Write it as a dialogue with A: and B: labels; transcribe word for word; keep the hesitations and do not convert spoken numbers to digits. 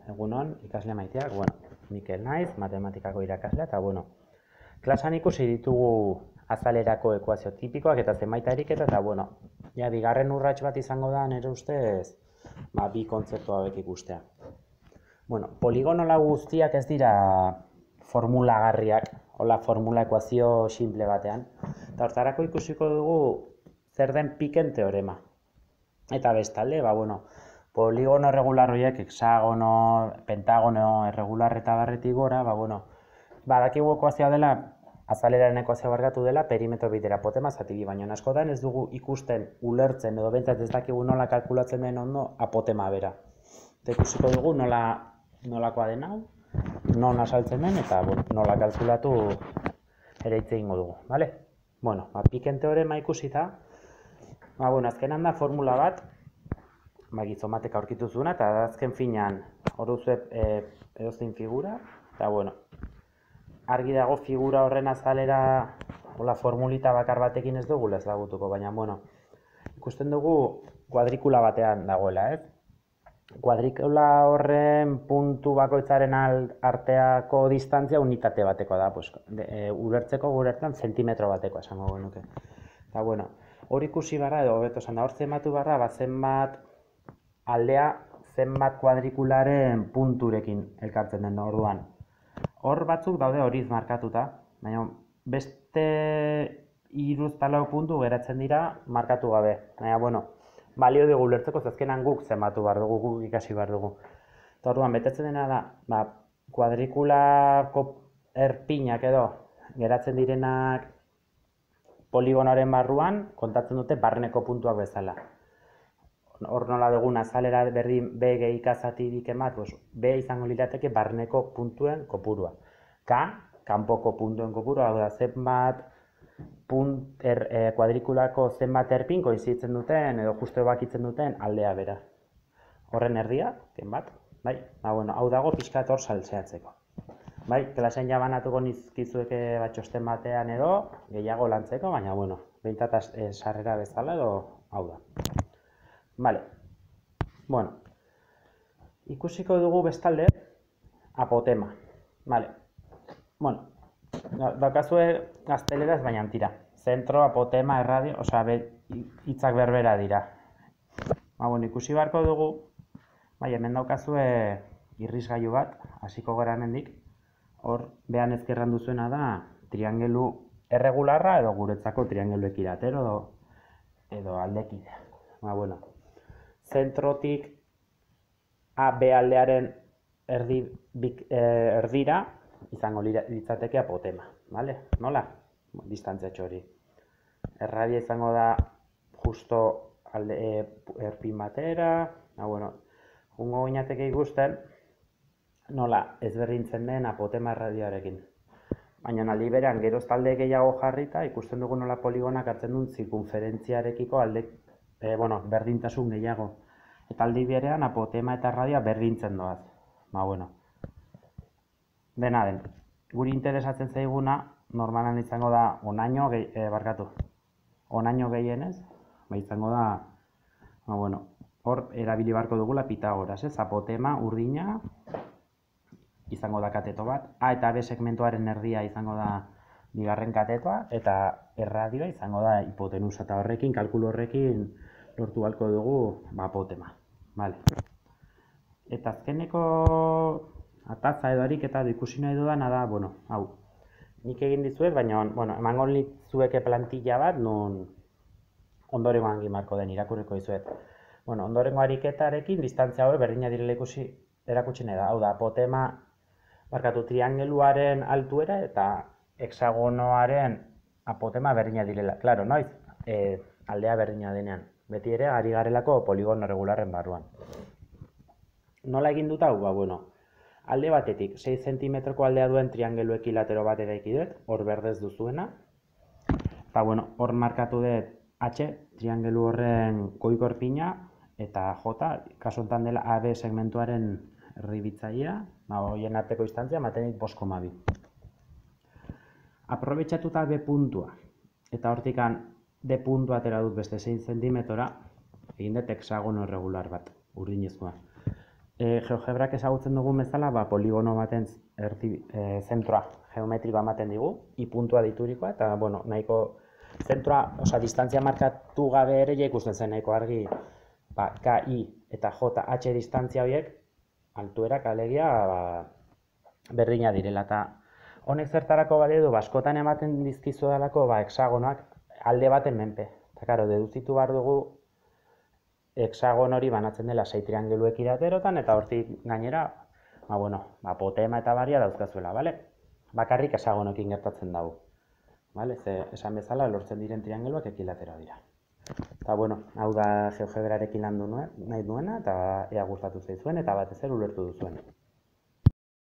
A: egunon, ikasle maiteak, bueno, Mikel naiz, matematikako irakaslea, eta bueno, klasan ikusi ditugu azalerako ekuazio tipikoak eta zenbait ariketa, eta bueno, ja, bigarren urrats bat izango da, nire ustez, ba, bi kontzeptu hauek ikustea. Bueno, poligonola guztiak ez dira formulagarriak, hola formula ekuazio simple batean, eta hortarako ikusiko dugu zer den Picken teorema. Eta bestalde, ba, bueno, poligono erregular horiek, hexagono, pentagono erregular eta barretik gora, ba, bueno, badakigu ekuazioa dela, azaleraren ekuazioa barkatu dela, perimetro bitera apotema zati, baina askotan ez dugu ikusten, ulertzen, edo behintzat ez dakigu nola kalkulatzen den ondo apotema bera. Eta ikusiko dugu nola, nolakoa den hau, non asaltzen den, eta bueno, nola kalkulatu ere hitz egingo dugu, bale? Bueno, ba, Picken teorema ikusita, ba, bueno, azkenan da formula bat, ba, gizomatek aurkitu zuena, eta azken finean hor duzu e, edozein figura, eta bueno, argi dago figura horren azalera, hola, formulita bakar batekin ez dugu ezagutuko, baina bueno, ikusten dugu kuadrikula batean dagoela, ez? Kuadrikula horren puntu bakoitzaren arteako distantzia unitate batekoa da, pues, de, e, ulertzeko guretan zentimetro batekoa esango genuke. Eta bueno, hor ikusi barra, edo hobeto esan da, hor zenbatu barra, ba, zenbat aldea zenbat kuadrikularen punturekin elkartzen den orduan. Hor batzuk daude horiz markatuta, baina beste hiru eta lau puntu geratzen dira markatu gabe. Baina, bueno, balio dugu ulertzeko, azkenan guk zenbatu behar dugu, guk ikasi behar dugu. Eta orduan, betetzen dena da, ba, kuadrikulako erpinak edo geratzen direnak poligonoaren barruan, kontatzen dute barreneko puntuak bezala. Hor nola dugun azalera berdin B gehi K zati biken bat, B izango lirateke barneko puntuen kopurua. K, kanpoko puntuen kopurua, hau da zenbat punt, er, e, kuadrikulako zenbat erpin koinzitzen duten edo justu bakitzen duten aldea bera. Horren erdia, ken bat, bai? Ba, bueno, hau dago pixkat hor saltzeatzeko. Bai, klasen jabanatuko nizkizueke batxosten batean edo gehiago lantzeko, baina, bueno, behintzat e, sarrera bezala edo hau da. Vale, bueno, ikusiko dugu bestalde apotema, vale, bueno, daukazue gazteleraz baina tira, zentro, apotema, erradio, osea, hitzak berbera dira. Ba, bueno, ikusi beharko dugu, bai, hemen daukazue irrisgailu bat, hasiko gara hemendik, hor, behan ezkerran duzuena da, triangelu erregularra edo guretzako triangelu ekilatero edo, edo aldekidea. Ba, bueno. Zentrotik A, B aldearen erdi, bik, eh, erdira izango litzateke apotema, vale? Nola? Distantziatxo hori. Erradia izango da justo alde, e, erpin batera, ba, bueno, jungo gineateke ikusten nola ezberdintzen den apotema erradioarekin. Baina aldi berean geroz talde gehiago jarrita ikusten dugu nola poligonak hartzen duen zirkunferentziarekiko alde E, bueno, berdintasun gehiago. Eta aldi berean apotema eta erradioa berdintzen doaz. Ba, bueno. Dena den, guri interesatzen zaiguna, normalan izango da onaino, gehi, e, barkatu, onaino gehienez, ba, izango da, ba, bueno, hor erabili beharko dugula Pitagoras, ez? Apotema, urdina, izango da kateto bat, A eta B segmentuaren erdia izango da bigarren katetoa, eta erradioa izango da hipotenusa, eta horrekin, kalkulu horrekin, lortu balko dugu ba, apotema. Vale. Eta azkeneko ataza edo ariketa ikusi nahi dudana da, bueno, hau, nik egin dizuet, baina bueno, emango litzueke plantilla bat, nun ondorengoan gimarko den irakurriko dizuet. Bueno, ondorengo ariketarekin distantzia hori berdina direla ikusi erakutsi nahi da. Hau da, apotema, barkatu, triangeluaren altuera eta hexagonoaren apotema berdina direla. Claro, noiz, e, aldea berdina denean. Beti ere, ari garelako poligono regularren barruan. Nola egin dut hau? Ba, bueno, alde batetik, sei zentimetroko aldea duen triangelu ekilatero bat eraiki dut, hor berdez duzuena. Eta, bueno, hor markatu dut H, triangelu horren goiko erpina, eta J, kasu honetan dela A B segmentuaren erdibitzailea, ba, horien arteko distantzia, ematen dit bost koma bi. Aprobetxatuta B puntua, eta hortikan D puntua atera dut beste sei zentimetora, egin dut hexagono erregular bat, urdinezkoa. E, GeoGebrak ezagutzen dugun bezala, ba, poligono baten erdi, e, zentroa geometrikoa ematen digu, i puntua diturikoa, eta, bueno, nahiko zentroa, osea, distantzia markatu gabe ere ja ikusten zen nahiko argi, ba, K, I eta J, H distantzia horiek, altuerak alegia, ba, berdina direla, eta honek zertarako balio du, ba, askotan ematen dizkizu dalako, ba, hexagonoak alde baten menpe, eta, karo, deduzitu behar dugu, hexagon hori banatzen dela sei triangeluek iraterotan, eta hortik gainera, ba, bueno, ba, potema eta baria dauzkazuela, bale? Bakarrik hexagonoekin gertatzen dago. Bale? Ze, esan bezala, lortzen diren triangeluak ekilatero dira. Eta, bueno, hau da GeoGebrarekin lan du nuen, nahi duena, eta ea gustatu zaizuen, eta batez ere ulertu duzuen.